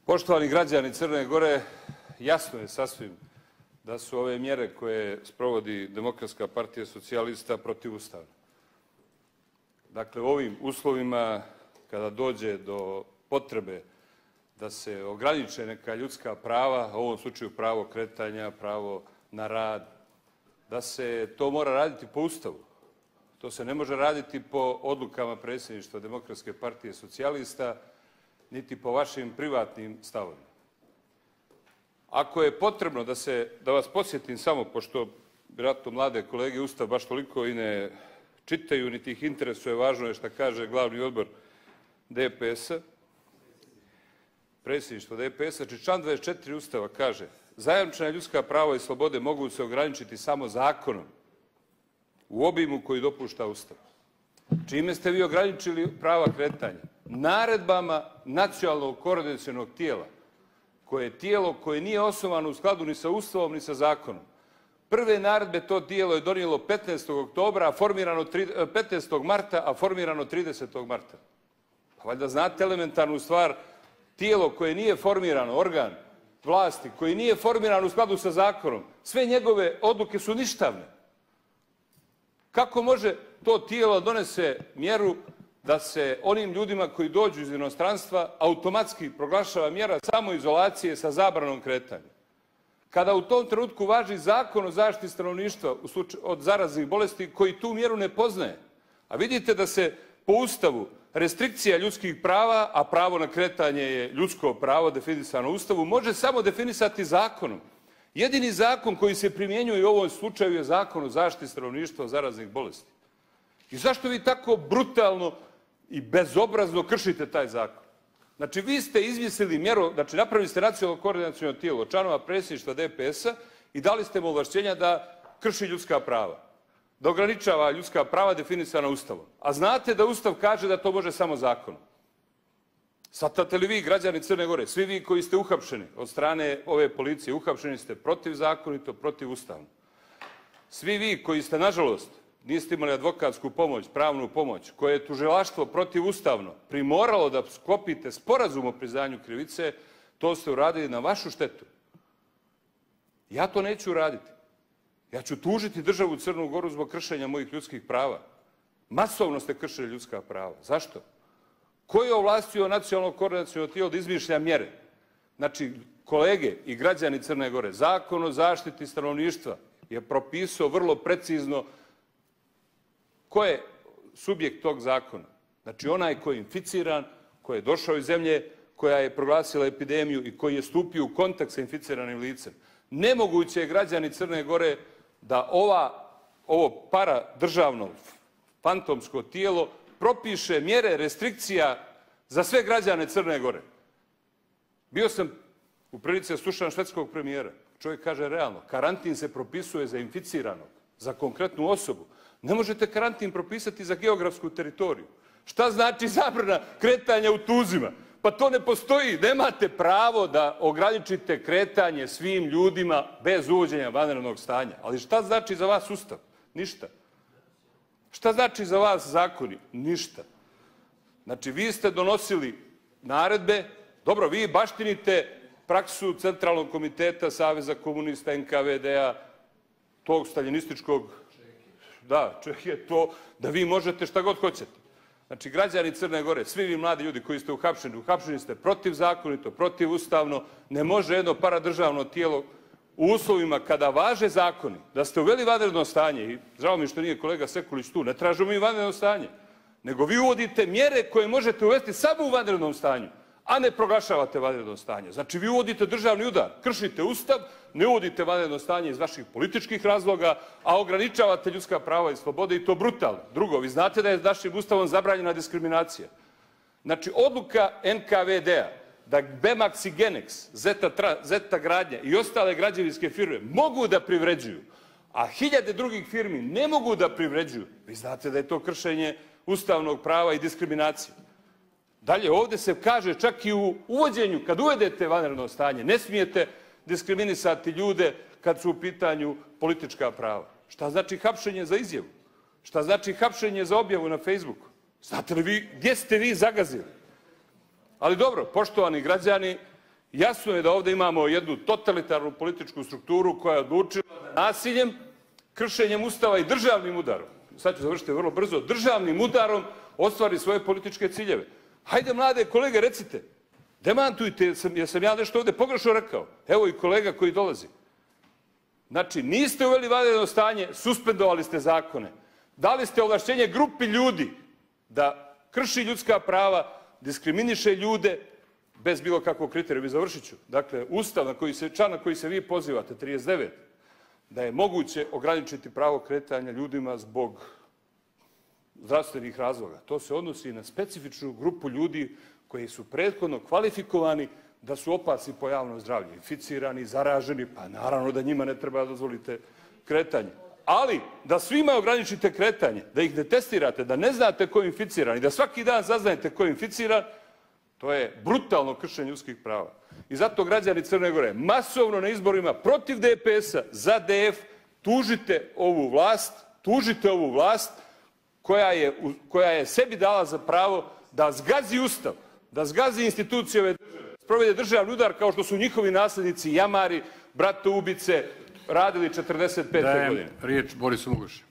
Poštovani građani Crne Gore, jasno je sasvim da su ove mjere koje sprovodi Demokratska partija socijalista protivustavne. Dakle, u ovim uslovima, kada dođe do potrebe da se ograniče neka ljudska prava, u ovom slučaju pravo kretanja, pravo na rad, da se to mora raditi po Ustavu. To se ne može raditi po odlukama predsjedništva Demokratske partije socijalista, niti po vašim privatnim stavovima. Ako je potrebno da vas podsjetim samo, pošto vjerojatno mlade kolege Ustav baš toliko i ne čitaju, niti ih interesuje, važno je šta kaže glavni odbor DPS-a, predsjedništvo DPS-a, član 24 Ustava kaže: zajamčena ljudska prava i slobode mogu se ograničiti samo zakonom u obimu koji dopušta Ustav. Čime ste vi ograničili prava kretanja? Naredbama nacionalnog koordinacionog tijela, koje je tijelo koje nije osnovano u skladu ni sa Ustavom ni sa zakonom. Prve naredbe to tijelo je donijelo 15. marta, a formirano 30. marta. Pa valjda znate elementarnu stvar, tijelo koje nije formirano, organ vlasti, koji nije formiran u skladu sa zakonom, sve njegove odluke su ništavne. Kako može to tijelo donese mjeru da se onim ljudima koji dođu iz inostranstva automatski proglašava mjera samoizolacije sa zabranom kretanja? Kada u tom trenutku važi Zakon o zaštiti stanovništva od zaraznih bolesti koji tu mjeru ne poznaje. A vidite da se po Ustavu restrikcija ljudskih prava, a pravo na kretanje je ljudsko pravo definisano u Ustavu, može samo definisati zakonom. Jedini zakon koji se primjenjuje u ovom slučaju je Zakon o zaštiti stanovništva od zaraznih bolesti. I zašto vi tako brutalno i bezobrazno kršite taj zakon? Znači, vi ste izmislili mjeru, znači napravili ste nacionalno koordinaciono tijelo članova predsjedništva DPS-a i dali ste mu ovlašćenja da krši ljudska prava, da ograničava ljudska prava definisana Ustavom. A znate da Ustav kaže da to može samo zakonom. Shvatate li vi, građani Crne Gore, svi vi koji ste uhapšeni od strane ove policije, uhapšeni ste protivzakonito, protivustavno. Svi vi koji ste, nažalost, niste imali advokatsku pomoć, pravnu pomoć, koje je tužilaštvo protivustavno primoralo da sklopite sporazum o priznanju krivice, to ste uradili na vašu štetu. Ja to neću uraditi. Ja ću tužiti državu Crnu Goru zbog kršenja mojih ljudskih prava. Masovno ste kršili ljudska prava. Zašto? Ko je ovlastio nacionalno koordinaciono tijelo da izmišlja mjere? Znači, kolege i građani Crne Gore, Zakon o zaštiti stanovništva je propisao vrlo precizno ko je subjekt tog zakona. Znači, onaj koji je inficiran, koji je došao iz zemlje koja je proglasila epidemiju i koji je stupio u kontakt sa inficiranim licem. Nemoguće je, građani Crne Gore, da ovo paradržavno fantomsko tijelo propiše mjere restrikcija za sve građane Crne Gore. Bio sam u prilici da slušam švedskog premijera. Čovjek kaže realno, karantin se propisuje za inficiranog, za konkretnu osobu. Ne možete karantin propisati za geografsku teritoriju. Šta znači zabrana kretanja u Tuzima? Pa to ne postoji. Nemate pravo da ograničite kretanje svim ljudima bez uvođenja vanrednog stanja. Ali šta znači za vas Ustav? Ništa. Šta znači za vas zakoni? Ništa. Znači, vi ste donosili naredbe, dobro, vi baštinite praksu Centralnog komiteta Saveza komunista, NKVD-a, tog staljinističkog, da, je to, da vi možete šta god hoćete. Znači, građani Crne Gore, svi vi mladi ljudi koji ste uhapšeni ste protivzakonito, protivustavno, ne može jedno paradržavno tijelo u uslovima kada važe zakoni, da ste uveli vanredno stanje, i žao mi što nije kolega Sekulić tu, ne tražimo mi vanredno stanje, nego vi uvodite mjere koje možete uvesti samo u vanrednom stanju, a ne proglašavate vanredno stanje. Znači, vi uvodite državni udar, kršite Ustav, ne uvodite vanredno stanje iz vaših političkih razloga, a ograničavate ljudska prava i slobode, i to brutalno. Drugo, vi znate da je našim Ustavom zabranjena diskriminacija. Znači, odluka NKVD-a da Bemax i Genex, Zeta gradnja i ostale građevinske firme mogu da privređuju, a hiljade drugih firmi ne mogu da privređuju, vi znate da je to kršenje ustavnog prava i diskriminacije. Dalje, ovdje se kaže čak i u uvođenju, kad uvedete vanredno stanje, ne smijete diskriminisati ljude kad su u pitanju politička prava. Šta znači hapšenje za izjavu? Šta znači hapšenje za objavu na Facebooku? Znate li vi gdje ste vi zagazili? Ali dobro, poštovani građani, Jasno je da ovdje imamo jednu totalitarnu političku strukturu koja je odlučila da nasiljem, kršenjem Ustava i državnim udarom, sad ću završiti vrlo brzo, državnim udarom ostvari svoje političke ciljeve. Hajde, mlade kolege, recite, demantujte, jesam ja nešto ovdje pogrešno rekao. Evo i kolega koji dolazi. Znači, niste uveli vanredno stanje, suspendovali ste zakone. Dali ste ovlašćenje grupi ljudi da krši ljudska prava, diskriminiše ljude bez bilo kakvog kriterija. Završit ću. Dakle, Ustav član na koji se vi pozivate, 39, da je moguće ograničiti pravo kretanja ljudima zbog zdravstvenih razloga. To se odnosi na specifičnu grupu ljudi koji su prethodno kvalifikovani da su opasni po javno zdravlje, inficirani, zaraženi, pa naravno da njima ne treba dozvolite kretanje. Ali, da svima ograničite kretanje, da ih ne testirate, da ne znate ko je inficiran i da svaki dan saznajete ko je inficiran, to je brutalno kršenje ljudskih prava. I zato građani Crne Gore masovno na izborima protiv DPS-a za DF tužite ovu vlast koja je sebi dala za pravo da zgazi Ustav, da zgazi institucije ove države, sprovede državni udar kao što su njihovi naslednici jamari, bratoubice radili 45. godine. Dajem riječ Borisu Mugušu.